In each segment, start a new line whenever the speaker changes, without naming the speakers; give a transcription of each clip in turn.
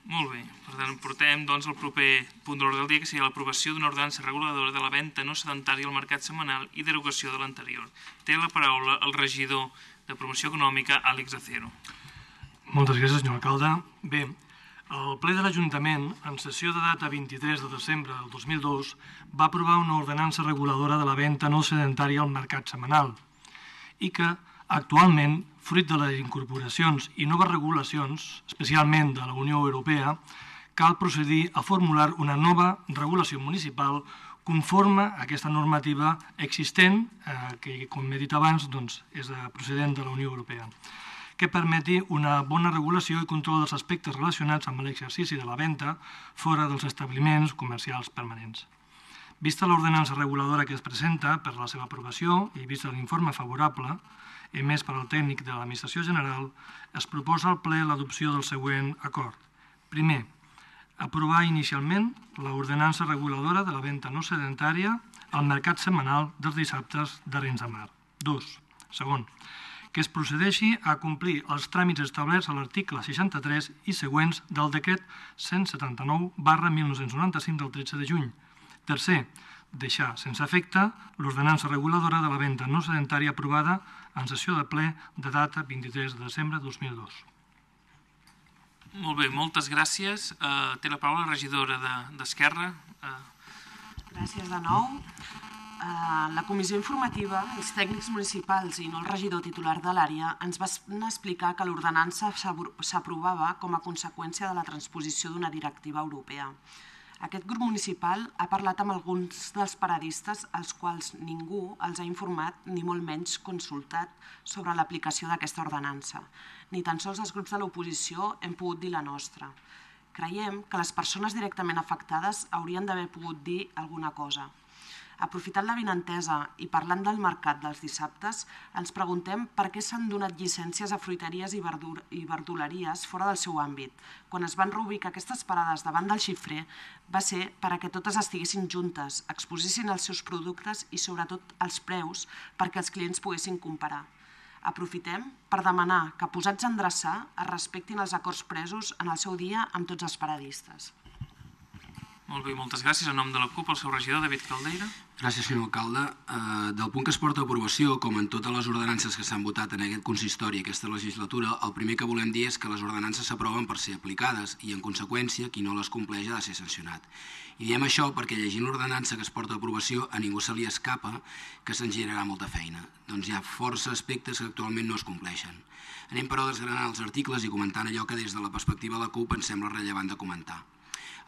Molt bé, per tant portem el proper punt de l'ordre del dia, que seria l'aprovació d'una ordenança reguladora de la venda no sedentària al mercat setmanal i derogació de l'anterior. Té la paraula el regidor de Promoció Econòmica, Àlex Acero.
Moltes gràcies, senyor alcalde. Bé, el ple de l'Ajuntament, en sessió de data 23 de desembre del 2002, va aprovar una ordenança reguladora de la venda no sedentària al mercat setmanal i que, actualment, fruit de les incorporacions i noves regulacions, especialment de la Unió Europea, cal procedir a formular una nova regulació municipal conforme a aquesta normativa existent, que, com he dit abans, és procedent de la Unió Europea, que permeti una bona regulació i control dels aspectes relacionats amb l'exercici de la venda fora dels establiments comercials permanents. Vista l'ordenança reguladora que es presenta per la seva aprovació i vista l'informe favorable emès per al tècnic de l'Administració General, es proposa al ple l'adopció del següent acord. Primer, aprovar inicialment l'ordenança reguladora de la venda no sedentària al mercat setmanal dels dissabtes d'Arenys de Mar. 2. Segon, que es procedeixi a complir els tràmits establerts a l'article 63 i següents del decret 179/1995 del 13 de juny. Tercer, deixar sense efecte l'ordenança reguladora de la venda no sedentària aprovada en sessió de ple de data 23 de desembre de 2002.
Molt bé, moltes gràcies. Té la paraula la regidora d'Esquerra.
Gràcies de nou. La comissió informativa, els tècnics municipals i no el regidor titular de l'àrea ens van explicar que l'ordenança s'aprovava com a conseqüència de la transposició d'una directiva europea. Aquest grup municipal ha parlat amb alguns dels paradistes als quals ningú els ha informat ni molt menys consultat sobre l'aplicació d'aquesta ordenança. Ni tan sols els grups de l'oposició hem pogut dir la nostra. Creiem que les persones directament afectades haurien d'haver pogut dir alguna cosa. Aprofitant l'avinentesa i parlant del mercat dels dissabtes, ens preguntem per què s'han donat llicències a fruiteries i verduleries fora del seu àmbit. Quan es van reubicar aquestes parades davant del xifrer, va ser perquè totes estiguessin juntes, exposessin els seus productes i sobretot els preus perquè els clients poguessin comparar. Aprofitem per demanar que, posats a endreçar, es respectin els acords presos en el seu dia amb tots els paradistes.
Molt bé, moltes gràcies. En nom de la CUP, el seu regidor, David Caldeira.
Gràcies, senyor alcalde. Del punt que es porta a aprovació, com en totes les ordenances que s'han votat en aquest consistori aquesta legislatura, el primer que volem dir és que les ordenances s'aproven per ser aplicades i, en conseqüència, qui no les compleix ha de ser sancionat. I diem això perquè llegint l'ordenança que es porta a aprovació a ningú se li escapa que se'n generarà molta feina. Doncs hi ha força aspectes que actualment no es compleixen. Anem, però, desgranant els articles i comentant allò que des de la perspectiva de la CUP ens sembla rellevant de comentar.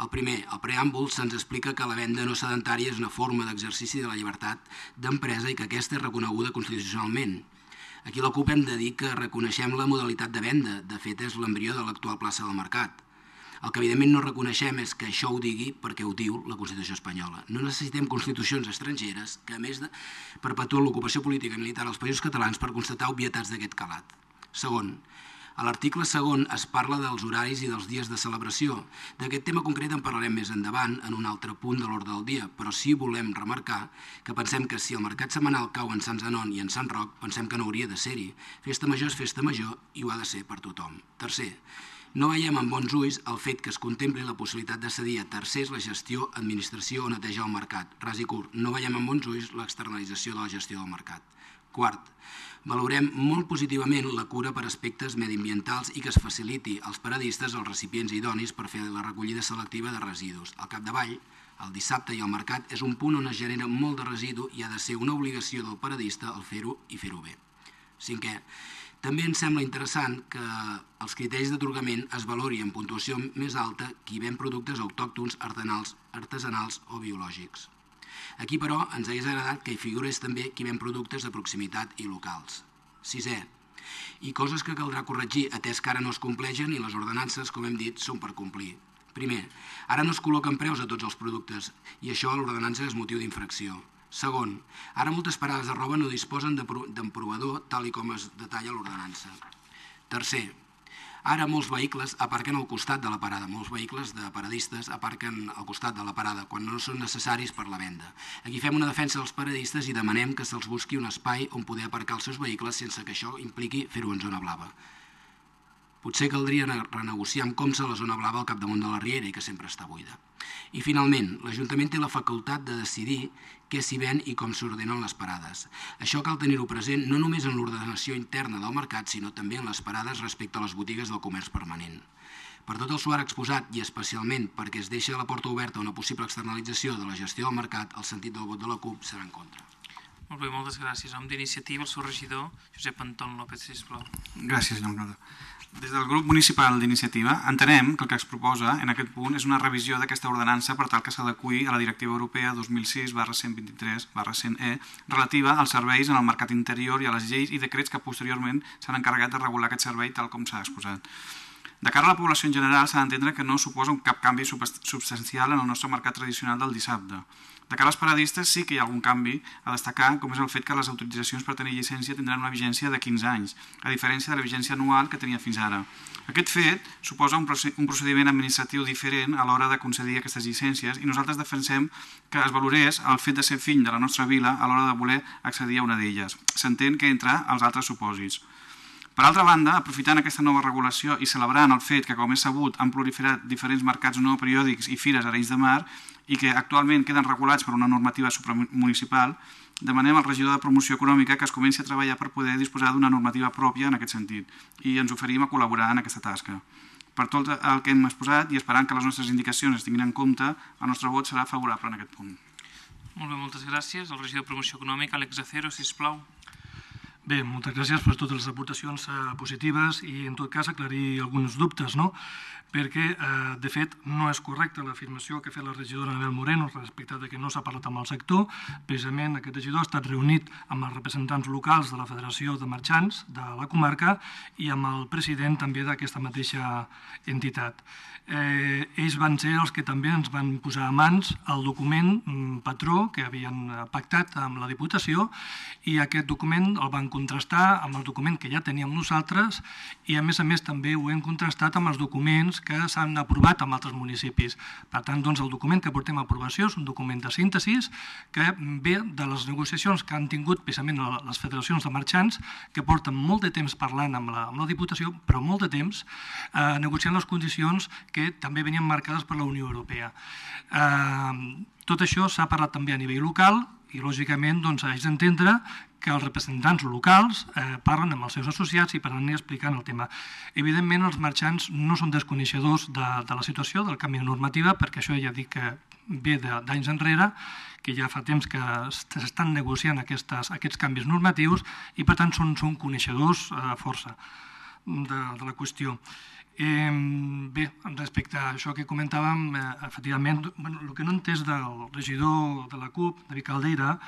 El primer, al preàmbul, se'ns explica que la venda no sedentària és una forma d'exercici de la llibertat d'empresa i que aquesta és reconeguda constitucionalment. Aquí a la CUP hem de dir que reconeixem la modalitat de venda, de fet és l'embrió de l'actual plaça del mercat. El que evidentment no reconeixem és que això ho digui perquè ho diu la Constitució espanyola. No necessitem constitucions estrangeres que, a més, perpetuen l'ocupació política i militar als països catalans per constatar obvietats d'aquest calat. Segon, a l'article segon es parla dels horaris i dels dies de celebració. D'aquest tema concret en parlarem més endavant en un altre punt de l'ordre del dia, però sí volem remarcar que pensem que si el mercat setmanal cau en Sant Zenon i en Sant Roc, pensem que no hauria de ser-hi. Festa major és festa major i ho ha de ser per tothom. Tercer, no veiem amb bons ulls el fet que es contempli la possibilitat de cedir a tercers la gestió, administració o neteja del mercat. Ras i curt, no veiem amb bons ulls l'externalització de la gestió del mercat. Quart, valorem molt positivament la cura per aspectes mediambientals i que es faciliti als paradistes els recipients idonis per fer la recollida selectiva de residus. Al capdavall, el dissabte i el mercat és un punt on es genera molt de residu i ha de ser una obligació del paradista el fer-ho i fer-ho bé. Cinquè, també ens sembla interessant que els criteris d'atorgament es valori en puntuació més alta qui ven productes autòctons, artesanals o biològics. Aquí, però, ens hauria agradat que hi figurés també qui ven productes de proximitat i locals. Sisè, i coses que caldrà corregir, atès que ara no es compleixen i les ordenances, com hem dit, són per complir. Primer, ara no es col·loquen preus a tots els productes i això a l'ordenança és motiu d'infracció. Segon, ara moltes parades de roba no disposen d'emprovador tal com es detalla a l'ordenança. Tercer, ara molts vehicles aparquen al costat de la parada, molts vehicles de paradistes aparquen al costat de la parada quan no són necessaris per la venda. Aquí fem una defensa dels paradistes i demanem que se'ls busqui un espai on poder aparcar els seus vehicles sense que això impliqui fer-ho en zona blava. Potser caldria renegociar amb Comsa la zona blava al capdamunt de la Riera i que sempre està buida. I finalment, l'Ajuntament té la facultat de decidir què s'hi ven i com s'ordenen les parades. Això cal tenir-ho present no només en l'ordenació interna del mercat, sinó també en les parades respecte a les botigues del comerç permanent. Per tot el suar exposat i especialment perquè es deixa la porta oberta a una possible externalització de la gestió del mercat, el sentit del vot de la CUP serà en contra.
Molt bé, moltes gràcies. En nom d'Iniciativa, el seu regidor, Josep Anton López, sisplau.
Gràcies, senyor alcalde. Des del grup municipal d'Iniciativa entenem que el que es proposa en aquest punt és una revisió d'aquesta ordenança per tal que s'adeqüi a la Directiva Europea 2006/123/100/E relativa als serveis en el mercat interior i a les lleis i decrets que posteriorment s'han encarregat de regular aquest servei tal com s'ha exposat. De cara a la població en general s'ha d'entendre que no suposa cap canvi substancial en el nostre mercat tradicional del dissabte. De cara als paradistes sí que hi ha algun canvi a destacar, com és el fet que les autoritzacions per tenir llicència tindran una vigència de 15 anys, a diferència de la vigència anual que tenia fins ara. Aquest fet suposa un procediment administratiu diferent a l'hora de concedir aquestes llicències i nosaltres defensem que es valorés el fet de ser fill de la nostra vila a l'hora de voler accedir a una d'elles. S'entén que entre els altres supòsits. Per altra banda, aprofitant aquesta nova regulació i celebrant el fet que, com és sabut, han proliferat diferents mercats no periòdics i fires a Arenys de Mar i que actualment queden regulats per una normativa supramunicipal, demanem al regidor de Promoció Econòmica que es comenci a treballar per poder disposar d'una normativa pròpia en aquest sentit i ens oferim a col·laborar en aquesta tasca. Per tot el que hem exposat i esperant que les nostres indicacions es tinguin en compte, el nostre vot serà favorable en aquest punt.
Molt bé, moltes gràcies. El regidor de Promoció Econòmica, Àlex Acero, sisplau.
Bé, moltes gràcies per totes les aportacions positives i, en tot cas, aclarir alguns dubtes, no? Perquè, de fet, no és correcta l'afirmació que ha fet la regidora Anabel Moreno respecte que no s'ha parlat amb el sector. Precisament aquest regidor ha estat reunit amb els representants locals de la Federació de Marxants de la comarca i amb el president també d'aquesta mateixa entitat. Ells van ser els que també ens van posar a mans el document patró que havien pactat amb la Diputació i aquest document el van contrastar amb el document que ja teníem nosaltres i a més també ho hem contrastat amb els documents que s'han aprovat en altres municipis. Per tant, doncs, el document que portem a aprovació és un document de síntesi que ve de les negociacions que han tingut precisament les federacions de marxants que porten molt de temps parlant amb la Diputació, però molt de temps negociant les condicions que també venien marcades per la Unió Europea. Tot això s'ha parlat també a nivell local i, lògicament, haig d'entendre que els representants locals parlen amb els seus associats i per anar explicant el tema. Evidentment, els marxants no són desconeixedors de la situació, del canvi de normativa, perquè això ja dic que ve d'anys enrere, que ja fa temps que s'estan negociant aquests canvis normatius i, per tant, són coneixedors força de la qüestió. Bé, respecte a això que comentàvem, efectivament, el que no he entès del regidor de la CUP, David Caldeira,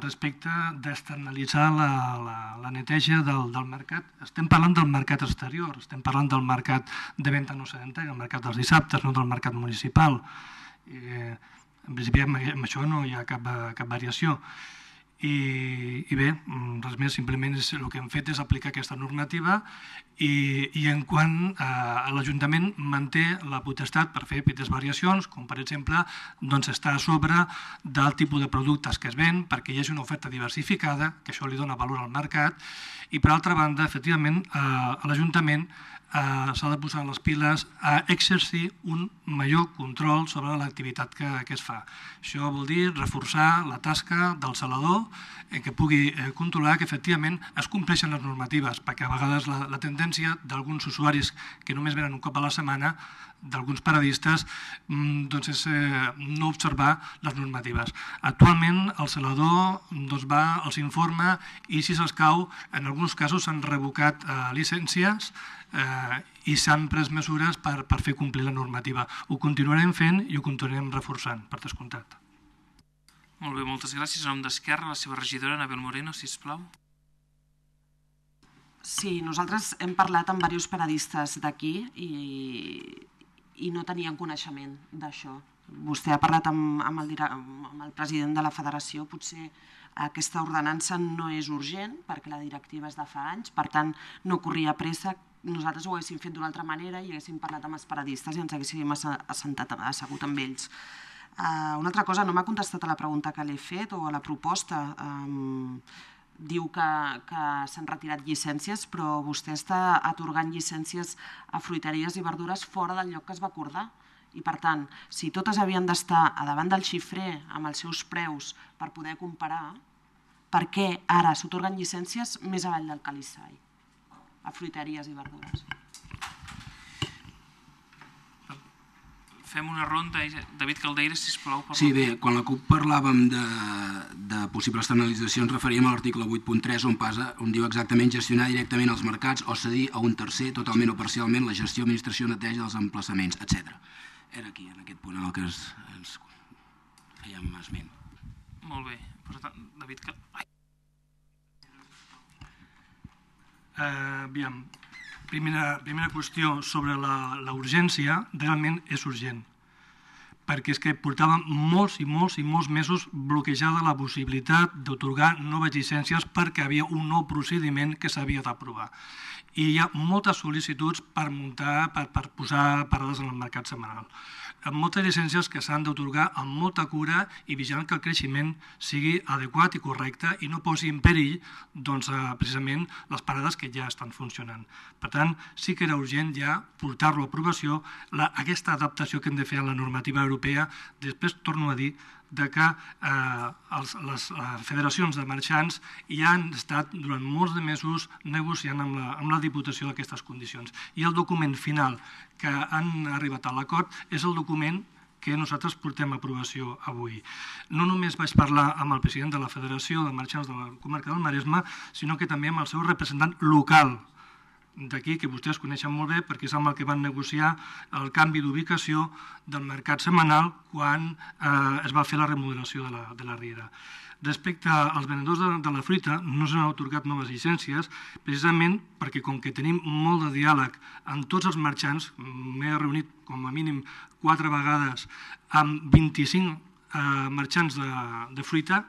respecte d'externalitzar la neteja del mercat. Estem parlant del mercat exterior, estem parlant del mercat de venda no sedentària, el mercat dels dissabtes, no del mercat municipal. En principi, amb això no hi ha cap variació. I bé, res més, simplement el que hem fet és aplicar aquesta normativa i en quant l'Ajuntament manté la potestat per fer petites variacions, com per exemple estar a sobre del tipus de productes que es ven perquè hi hagi una oferta diversificada, que això li dona valor al mercat, i per altra banda, efectivament, l'Ajuntament s'ha de posar les piles a exercir un major control sobre l'activitat que es fa. Això vol dir reforçar la tasca del salador que pugui controlar que efectivament es compleixen les normatives, perquè a vegades la tendència d'alguns usuaris que només venen un cop a la setmana, d'alguns paradistes, és no observar les normatives. Actualment el salador va, els informa i si s'escau, en alguns casos s'han revocat llicències i s'han pres mesures per fer complir la normativa. Ho continuarem fent i ho continuarem reforçant, per descomptat.
Molt bé, moltes gràcies. En nom d'Esquerra, la seva regidora, Anabel Moreno, sisplau.
Sí, nosaltres hem parlat amb diversos paradistes d'aquí i no tenien coneixement d'això. Vostè ha parlat amb el president de la federació, potser aquesta ordenança no és urgent perquè la directiva és de fa anys, per tant no corria pressa. Nosaltres ho haguéssim fet d'una altra manera i haguéssim parlat amb els paradistes i ens haguéssim assegut amb ells. Una altra cosa, no m'ha contestat a la pregunta que l'he fet o a la proposta. diu que s'han retirat llicències, però vostè està atorgant llicències a fruiteries i verdures fora del lloc que es va acordar. I per tant, si totes havien d'estar a davant del xifrer amb els seus preus per poder comparar, per què ara s'atorguen llicències més avall del Calissai a fruiteries i verdures?
Fem una ronda. David Caldeira, sisplau.
Sí, bé, quan la CUP parlàvem de possibles externalitzacions referíem a l'article 8.3 on diu exactament gestionar directament els mercats o cedir a un tercer totalment o parcialment la gestió, administració, neteja dels emplaçaments, etc. Era aquí, en aquest punt en el que ens fèiem esment.
Molt bé. Per tant, David Caldeira.
Aviam, primera qüestió sobre la urgència, realment és urgent, perquè és que portàvem molts i molts mesos bloquejada la possibilitat d'atorgar noves llicències perquè havia un nou procediment que s'havia d'aprovar. I hi ha moltes sol·licituds per muntar, per posar parades en el mercat setmanal. Moltes llicències que s'han d'atorgar amb molta cura i vigilant que el creixement sigui adequat i correcte i no posi en perill precisament les parades que ja estan funcionant. Per tant, sí que era urgent ja portar-lo a aprovació aquesta adaptació que hem de fer a la normativa europea. Després torno a dir que les federacions de marxants ja han estat durant molts de mesos negociant amb la Diputació d'aquestes condicions. I el document final que han arribat a l'acord és el document que nosaltres portem a aprovació avui. No només vaig parlar amb el president de la Federació de Marxants de la comarca del Maresme, sinó que també amb el seu representant local d'aquí, que vostès coneixen molt bé perquè és amb el que van negociar el canvi d'ubicació del mercat setmanal quan es va fer la remodelació de la Riera. Respecte als venedors de la fruita, no s'han atorgat noves llicències precisament perquè com que tenim molt de diàleg amb tots els marxants, m'he reunit com a mínim 4 vegades amb 25 marxants de fruita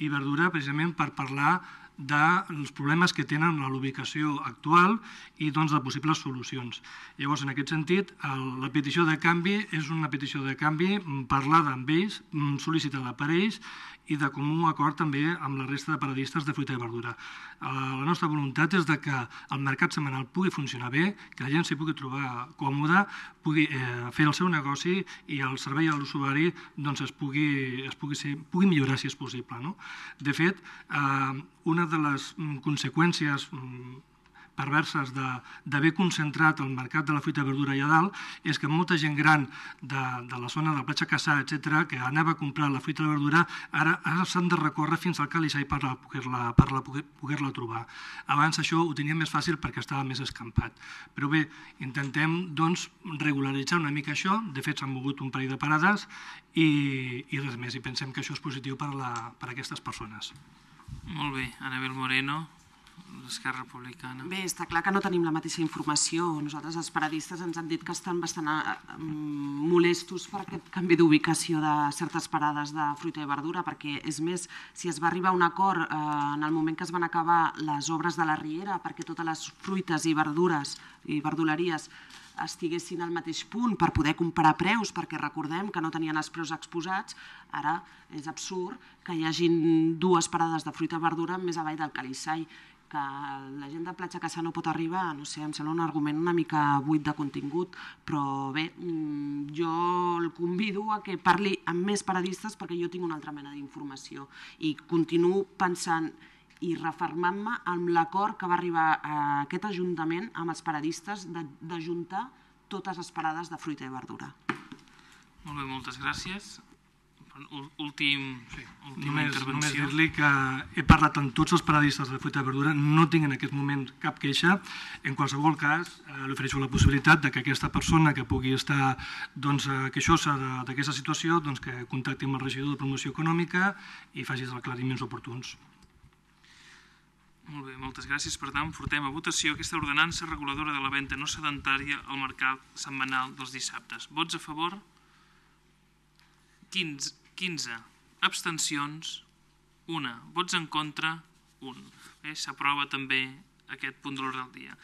i verdura precisament per parlar dels problemes que tenen a l'ubicació actual i de possibles solucions. Llavors, en aquest sentit, la petició de canvi és una petició de canvi parlada amb ells, sol·licitada per ells i de comú acord també amb la resta de paradistes de fruita i verdura. La nostra voluntat és que el mercat setmanal pugui funcionar bé, que la gent s'hi pugui trobar còmoda, pugui fer el seu negoci i el servei a l'usuari es pugui millorar si és possible. De fet, una de les conseqüències perverses d'haver concentrat el mercat de la fruita i verdura allà dalt és que molta gent gran de la zona de Platja Cassà, etc., que anava a comprar la fruita i la verdura, ara s'han de recórrer fins al Calissai per poder-la trobar. Abans això ho tenia més fàcil perquè estava més escampat. Però bé, intentem regularitzar una mica això. De fet, s'han mogut un parell de parades i res més. I pensem que això és positiu per a aquestes persones.
Molt bé. Anabel Moreno, d'Esquerra Republicana.
Bé, està clar que no tenim la mateixa informació. Nosaltres, els paradistes, ens han dit que estan bastant molestos per aquest canvi d'ubicació de certes parades de fruita i verdura, perquè, és més, si es va arribar a un acord en el moment que es van acabar les obres de la Riera perquè totes les fruites i verdures i verduleries estiguessin al mateix punt per poder comparar preus, perquè recordem que no tenien els preus exposats, ara és absurd que hi hagin 2 parades de fruita i verdura més avall del Calissai. Que la gent de Platja Cassà no pot arribar, no sé, em sembla un argument una mica buit de contingut, però bé, jo el convido a que parli amb més paradistes perquè jo tinc una altra mena d'informació i continuo pensant i refermant-me amb l'acord que va arribar a aquest Ajuntament amb els paradistes d'ajuntar totes les parades de fruita i verdura.
Molt bé, moltes gràcies. Última intervenció.
Només dir-li que he parlat amb tots els paradistes de fruita i verdura, no tinc en aquest moment cap queixa. En qualsevol cas, li ofereixo la possibilitat que aquesta persona que pugui estar queixosa d'aquesta situació que contacti amb el regidor de promoció econòmica i faci els aclariments oportuns.
Molt bé, moltes gràcies. Per tant, portem a votació aquesta ordenança reguladora de la venda no sedentària al mercat setmanal dels dissabtes. Vots a favor? 15. Abstencions? 1. Vots en contra? 1. S'aprova també aquest punt de l'ordre del dia.